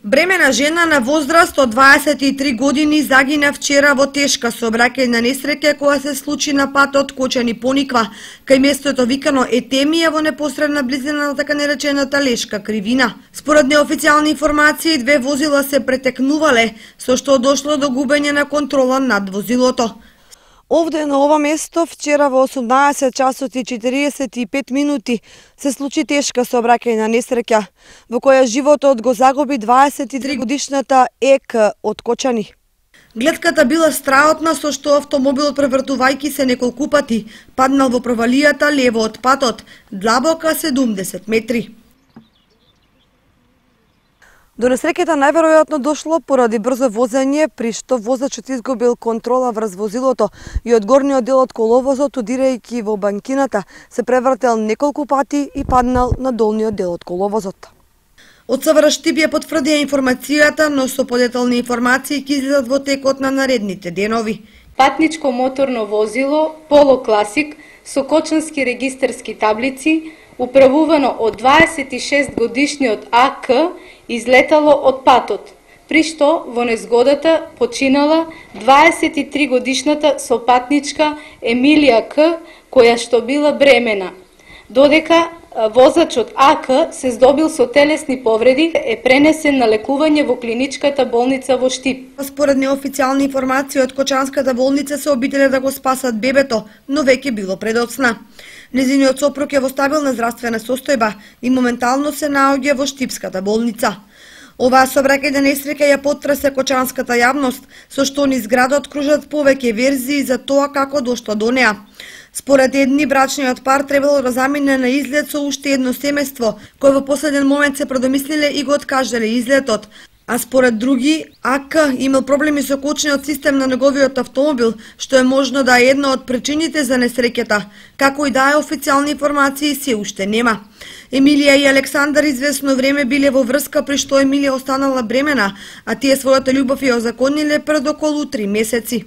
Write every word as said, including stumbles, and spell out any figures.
Бремена жена на возраст од дваесет и три години загина вчера во тешка сообраќајна несреќа која се случи на патот Кочани-Пониква, кај местото викано Етемија во непосредна близина на така наречената Лешка кривина. Според неофицијални информации, две возила се претекнувале, со што дошло до губење на контрола над возилото. Овде на ова место вчера во осумнаесет часот и четириесет и пет минути се случи тешка сообраќајна несреќа во која животот го загуби дваесет и три годишната Ек од Кочани. Гледката била страотна, со што автомобилот превртувајќи се неколку пати паднал во провалијата лево од патот, длабока седумдесет метри. До несреќата најверојатно дошло поради брзо возење, при што возачот изгубил контрола врз возилото и од горниот дел од коловозот, удирајќи во банкината, се превртел неколку пати и паднал на долниот дел од коловозот. Од СВР Штип ја потврдија информацијата, но со подетални информации ќе излезат во текот на наредните денови. Патничко моторно возило Поло Класик со кочански регистарски таблици, управувано од дваесет и шест годишниот А К, излетало од патот, при што во незгодата починала дваесет и три годишната сопатничка Емилија К, која што била бремена, додека возачот А К се здобил со телесни повреди, е пренесен на лекување во клиничката болница во Штип. Според неофицијални информации од Кочанската болница се обиделе да го спасат бебето, но веќе било предоцна. Незиниот сопруг е во стабилна здравствена состојба и моментално се наоѓа во Штипската болница. Оваа сообраќајна несреќа ја потресе кочанската јавност, со што низ градот кружат повеќе верзии за тоа како дошло до неа. Според едни, брачниот пар требало да замине на излет со уште едно семејство, кој во последен момент се продомислиле и го откажале излетот. А според други, А К имал проблеми со кочниот систем на неговиот автомобил, што е можно да е една од причините за несреќата, како и да е официјални информации се уште нема. Емилија и Александар извесно време биле во врска, при што Емилија останала бремена, а тие својата љубов ја озакониле пред околу три месеци.